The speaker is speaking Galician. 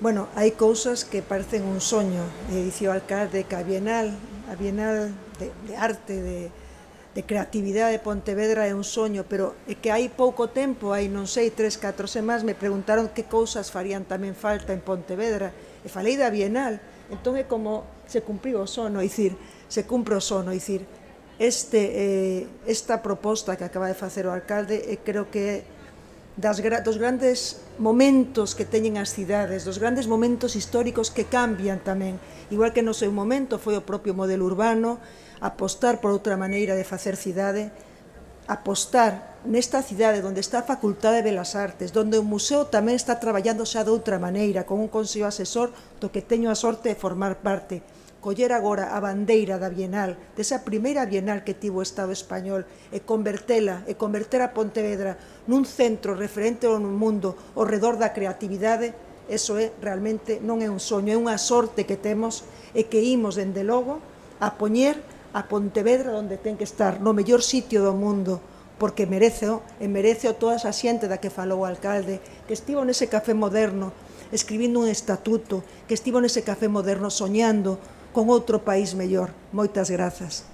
Bueno, hai cousas que parecen un soño, dicía o alcalde que a Bienal de arte, de creatividade de Pontevedra é un soño, pero é que hai pouco tempo, hai non sei, 3, 4 semanas, me preguntaron que cousas farían tamén falta en Pontevedra, e falei da Bienal, entón é como se cumpriu o sono, dicir, se cumpre o sono, dicir, esta proposta que acaba de facer o alcalde, creo que é dos grandes momentos que teñen as cidades, dos grandes momentos históricos que cambian tamén, igual que no seu momento foi o propio modelo urbano, apostar por outra maneira de facer cidade, apostar nesta cidade onde está a Facultade de Belas Artes, onde o museo tamén está traballando xa de outra maneira, con un consello asesor do que teño a sorte de formar parte, coller agora a bandeira da Bienal, desa primeira Bienal que tivo o Estado español, e converter a Pontevedra nun centro referente ao mundo ao redor da creatividade, eso é realmente non é un soño, é unha sorte que temos e que imos, dende logo, a poñer a Pontevedra onde ten que estar, no mellor sitio do mundo, porque mereceo toda esa xente da que falou o alcalde, que estivo nese café moderno, escribindo un estatuto, que estivo nese café moderno soñando con outro país mellor. Moitas grazas.